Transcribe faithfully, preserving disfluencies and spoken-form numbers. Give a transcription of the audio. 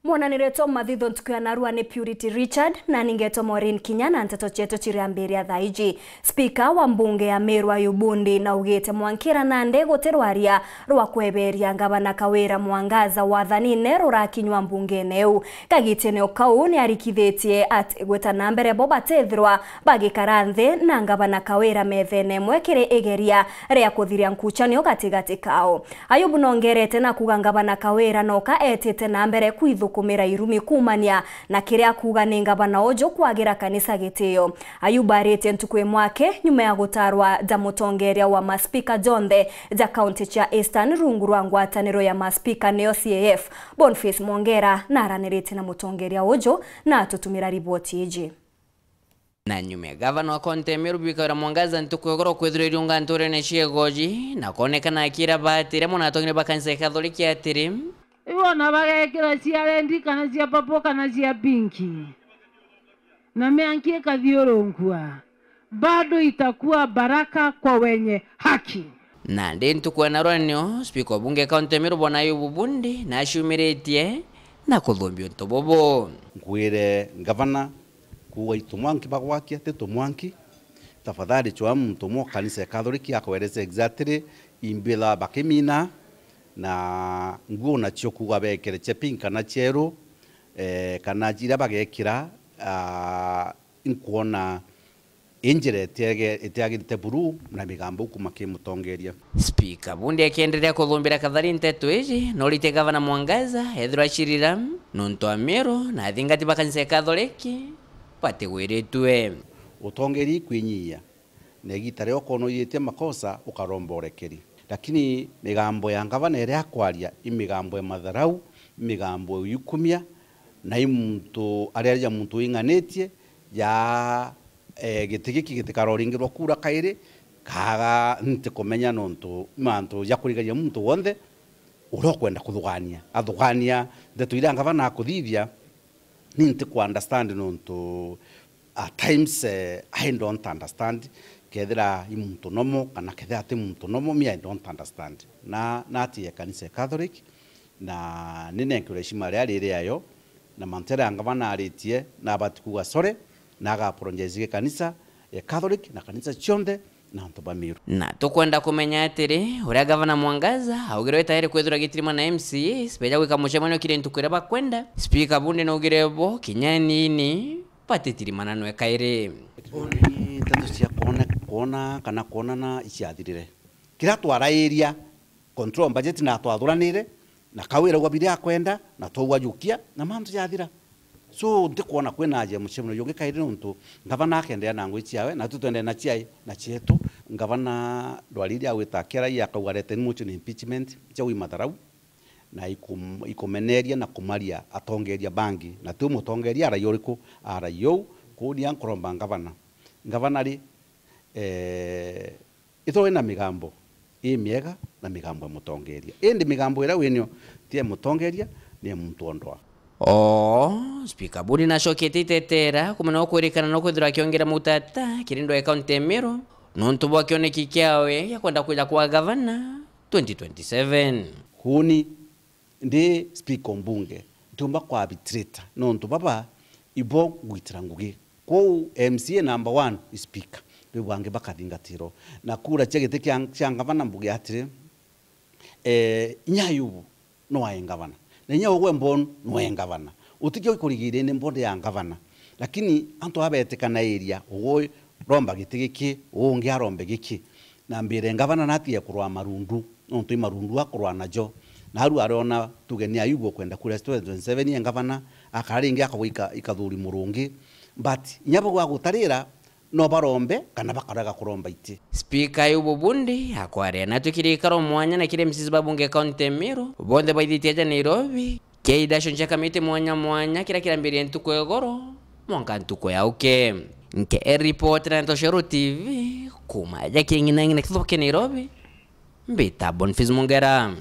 Mwananiritwe mathitho ntuku ya narua ni Purity Richard, na ningetwa Maureen Kinya, na nteto cietu ciriambiria thaa iji. Spika wa mbunge ya Meru Ayubu Bundi naugite mwankira nandi guti rwaria rwa kweberia ngavana Kawira Mwangaza wathanine rurakinywa mbungene iu. Kagitene o kau ni arikithitie ati gwita na mbere bo batethirwa bagikara nthi na ngavana Kawira methene imwe kiri igeria ria kuthiria nkucanio gatigati kao. Ayubu nongerete na kuuga ngavana Kawira noka etite na mbere kwithukumira irumi kuumania na kiria akuuga ni ngavana uju kwagira kanisa gitio. Ayubu aritie ntuku imwe aki nyuma ya gutarwa ja mutongeria wa maspika jonthe ja kaunti cia Eastern rungu rwa ngwataniro ya maspika niyo C A F. Boniface Mwongera naraniritie na mutongeria uju na atutumira riboti iji. Na nyuma ya gavana wa kaunti ya Meru Bi Kawira Mwangaza ntuku ya igoro kwithirwa iriunga nturene cia Igoji na kwonekana akiira baatire mwana atongire ba kanisa ya Kathoriki atiri, Iwona bagekira cia rendi kana cia papo kana cia pinki, na mianki ikathiurunkua, bado itakuwa baraka kwa wenye haki. Nandi ntuku ya narua nio spika wa bunge kaunti ya Meru Bwana Ayubu Bundi naciumiritie na kuthumbia untu bubu. Nkwire ngavana kuuga itu mwanki bagwakia, ti tumwanki. Tafadhali chwa muntu umwe kanisa ya Catholic akwerese exactly imbila bakimina, na nguo nacio kuuga bekere cia pink kana cieru, eh, kana iria bagekira, ah, inkwona injira itiage-, itiagirite buru na migambo kuma ki mutongeria. Spika Bundi akienderea kuthumbira kathari nteto iji, noritie gavana Mwangaza ethirwa acirira nontu Amiru na athingati ba kanisa ya Katholiki batigwiritue. Utongeria ikwinyiia, na igita riria ukoona uyiitie makosa ukaromba urekeri. Lakini migambo ya ngavana iria akwaria i migambo ya matharau, i migambo ya uikumia, na i muntu ariaria muntu wing'anitie, ja, eh, giti giki gitikaroringirwa kura kairi, kaga ntikumenya nontu mantu ja kurigaria muntu wonthe uria ukwenda kuthugania, athugania ndeto iria ngavana akuthithia, ni ntiku understand nontu at times, eh, I don't understand kethira i muntu nomo kana kethira ti muntu nomo, me I don't understand. Na, natie kanisa ya Catholic, na ninenkerwe heshima ria riri ayo, na mantu jaria ngavana aritie, nabati kuuga sorry, na aga apologize gi kanisa ya Catholic na kanisa cionthe na antu ba Meru. Na tukwenda kumenya atiri, uria gavana Mwangaza augirwe tayari kwithirwa agitirimana na M C As beja gwika mucemanio kiri ntuku iria bakwenda, spika Bundi naugire bo kinya nini batitirimananwe kairi. Boni nteto cia kwona, kwona kana kwonana iciathirire. Kiria twarairia, control budget na twathuranire, na Kawira augwa biria akwenda, na twaugwa jukia, na mantu jathira. So, ntikwona kwina aja mucemanio jungi kairi nontu ngavana akenderea na ngugi ciawe, na tu twendere na ciai, na cietu. Ngavana ndwari iria agwita akiaria akauga areteni motion impeachment, cia wi matharau, na ikum-, ikumeneria na kumaria atongeria bangi. Na ti mutongeria araia uriku, araia uu, kuuria nkuromba ngavana. Ngavana ri, eh, Ithirwa wina migambo imiega na migambo ya mutongeria. Indi migambo iria winio ti ya mutongeria, ni ya muntu o ndwaa. Oo, spika Bundi nacoketie itetera kumenya ukwirikana no kwithirwa akiongera mutata kiri ndwaa ya kaunti ya Meru, nontu bwa kioneki kiawe gia kwenda kwija kwa gavana twenty twenty-seven. Kuuni Ndi speaker o mbunge, ntiumba ku arbitrator, nontu baba ibo ngwitira ngugi. Kwou M C A number one i speaker, riu bangi bakathingatirwo. Na kura cia giti kia, cia ngavana mbuge atiri, eh, inya Ayubu no ae ngavana, na inya ugwe Mbonu no ae ngavana. Utikio ikurigiire ni mbonde ya ngavana, lakini antu abetikana area, ugwe romba giti giki, uu ungi arombe giki. Na mbire ngavana natige kurwaa marundu, nontu i marundu akurwaa najo. Na aru ariona tuge ni Ayubu ukwenda kuria twenty twenty-seven ye ngavana, akara ringi akagwa ika-, ikathuri murungi. But inya bau agutarira, no barombe kana bakarega kuromba iti. Spika Ayubu Bundi akwaria na twikiri ikaro mwanya na kiri M C As ba bunge kaunti ya Meru, bonthe baithitie aja Nairobi, Kei ndacunjia kamiti mwanya mwanya kiria kirambirie ntuku ya igoro mwanka ntuku ya uke. Nke report na Ntoshero T V kuma aja king'inang'ina kithuba kia Nairobi, mbita Boniface Mungera.